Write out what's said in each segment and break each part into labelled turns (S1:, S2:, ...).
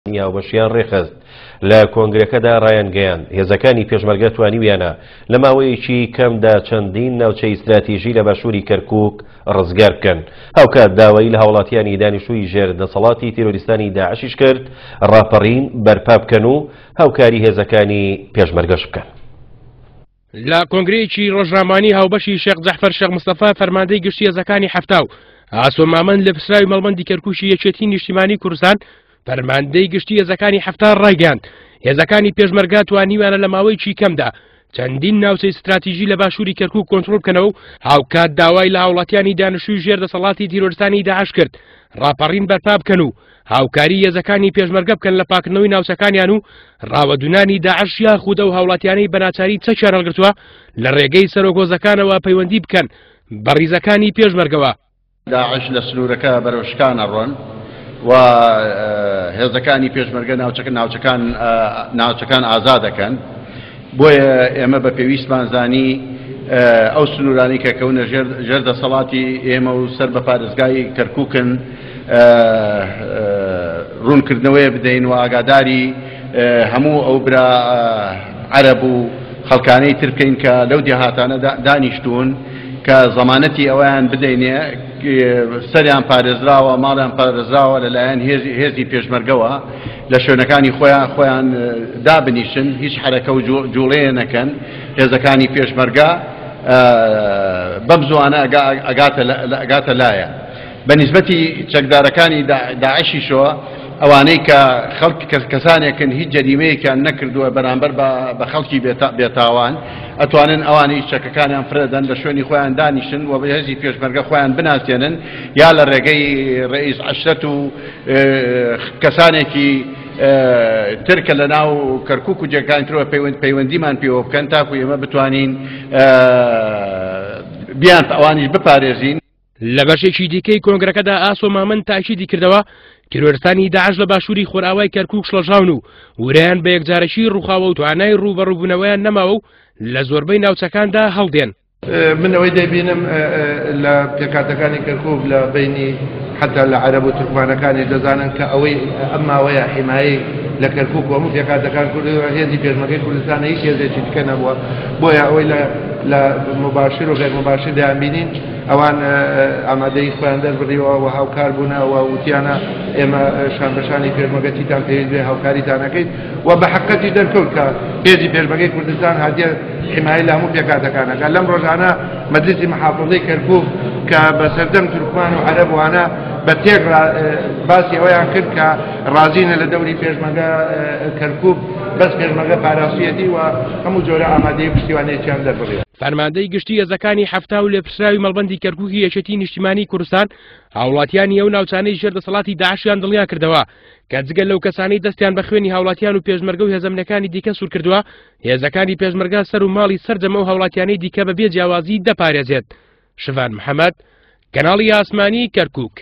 S1: هاوبەشیان ڕێکخست. لە کۆنگرەکەدا ڕایانگەیاند، هێزەکانی پێشمەرگە توانیویانە لە ماوەیەکی کەمدا چەندین ناوچەی ستراتیژی لە باشووری کەرکووک ڕزگار بکەن. هاوکات داوای لە هاوڵاتیانی دانیشتووی ژێر دەسەڵاتی تیرۆریستانی داعشیش کرد ڕاپەڕین بەرپا بکەن و هاوکاری هێزەکانی پێشمەرگەش بکەن.
S2: لە کۆنگرەیەکی ڕۆژنامەوانی هاوبەشی شێخ جەعفەر شێخ مستەفا فەرماندەی گشتی هێزەکانی حەفتا و ئاسۆ مامەند لێپرسراوی مەڵبەندی کەرکوکی یەکێتی نیشتیمانی کوردستان فەرماندەی گشتی هێزەکانی حەفتا ڕایگەیاند هێزەکانی پێشمەرگە توانیویانە لە ماوەیەکی کەمدا چەندین ناوچەی ستراتیژی لە باشووری کەرکوک کۆنترۆڵ بکەنەوە و هاوکات داوای لە هاوڵاتیانی دانیشتووی ژێر دەسەڵاتی تیرۆرستانی داعش کرد ڕاپەڕین بەرپا بکەن و هاوکاری هێزەکانی پێشمەرگە بکەن لە پاکردنەوەی ناوچەکانیان و ڕاوەدونانی داعش یاخود ئەو هاوڵاتیانەی بەناچاری چەکیان هەڵگرتووە لە ڕێگەی سەرۆک هۆزەکانەوە پەیوەندی بکەن بە ڕیزەکانی پێشمەرگەوە.
S3: داعش لە سنوورەکە بەرەو شکان ئەڕۆن و هێزەکانی پێشمەرگە ناوچەکە ناوچەکان ناوچەکان ئازاد دەکەن بۆیە ئێمە بە پێویستمان زانی ئەو سنوورانەی کە کەونە ژێر دەسەڵاتی ئێمە و سەر بە پارێزگای کەرکووکن ڕوونکردنەوەیە بدەین و ئاگاداری هەموو ئەو برا عەرەب و خەڵکانەی تر بکەین کە لەو دێهاتانە دانیشتوون کە زەمانەتی ئەویان بدەینێ سەریان پارێزراوە ماڵیان پارێزراوە لەلایەن هێزی پێشمەرگەوە لە شوێنەکانی خۆیان خۆیان دابنیشن هیچ حرەکە و جوڵەیە نەکەن هێزەکانی پێشمەرگە بەم زوانە ئەگاتە لایە بە نیسبەتی چەکدارەکانی داعشیشەوە ئەوانەی کە خەڵک کەسانێکن هیچ جەریمەیەکیان نەکردووە بەرامبەر بە خەڵکی بێتاوان ئەتوانن ئەوانەی چەکەکانیان فرەدەن لە شوێنی خۆیان دانیشن و بە هێزی پێشمەرگە خۆیان بناسێنن یا لە ڕێگەی ڕئیس عەشرەت و کەسانێکی تر کە لە ناو کەرکک و جێگانی ترەوە پەیوەندیمان پێوە بکەن تاکو ئێمە بتوانین بیان ئەوانیش بپارێزین.
S2: لە بەشێکی دیکەی کۆنگرەکەدا ئاسۆ مامەند تاکیدی کردەوە تیرۆرستانی داعش لە باشووری خۆرئاوای کەرکوک شڵەژاون و ورەیان بە یەکجارەکی ڕووخاوە و توانای ڕووبەڕووبوونەوەیان نەماوە و لە زۆربەی ناوچەکاندا هەڵدێن.
S4: من ئەوەی دەیبینم لە پێکهاتەکانی کەرکوک لە بەینی حتا لە عەرەب و تورکمانەکانیش دەزانن کە ئەوەی ئەم ماوەیە حیمایەی لە کەرکوک و هەموو پێکهاتەکان کردووە هێزی پێشمەرگەی کوردستانە هیچ هێزێکی دیکە نەبووە بۆیە ئەوەی لە لە مباشر و غیر مباشر دەیانبینین ئەوان ئامادەی خۆیان دەربڕیوە و هاوکار بوونە و وتیانە ئێمە شان بەشانی پێشمەرگە چیتان پێویست بێ هاوکاریتان ئەکەین و بە حەقەتی دەرکەوت کە هێزی پێشمەرگەی کوردستان هاتیە حمایە لە هەموو پێکهاتەکان ئەکات لەم ڕۆژانە مەجلیسی محافظەی کەرکوک کە بە سەردەم تورکمان و عەرەب وانە بە تێک باسی ئەوەیان کرد کە ڕازینە لە دەوری پێشمەرگە کەرکوک بەس پێشمەرگە پاراستویەتی و هەموو جۆرە ئامادەی پشتیوانیەکیان دەربڕیوە.
S2: فەرماندەی گشتی هێزەکانی حەفتا و لێپرسراوی مەڵبەندی کەرکوکی یەکێتی نیشتیمانی کوردستان هاوڵاتیانی ئەو ناوچانەی ژێر دەسەڵاتی داعشیان دڵنیا کردەوە کە جگە لەو کەسانەی دەستیان بە خوێنی هاوڵاتیان و پێشمەرگە و هێزەمنەکانی دیکە سوور کردووە هێزەکانی پێشمەرگە سەر و ماڵی سەرجەم ئەو هاوڵاتیانەی دیکە بە بێ جیاوازی دەپارێزێت. شڤان محەمەد، کەناڵی ئاسمانی کەرکوک.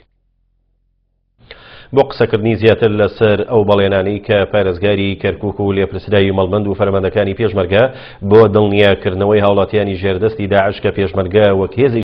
S1: بۆ قسەکردنی زیاتر لەسەر ئەو بەڵێنانەی کە پارێزگاری کەرکوک و لێپرسراوی مەڵبەند و فەرماندەکانی پێشمەرگە بۆ دڵنیاکردنەوەی هاوڵاتیانی ژێردەستی داعش کە پێشمەرگە وەک هێزێکی.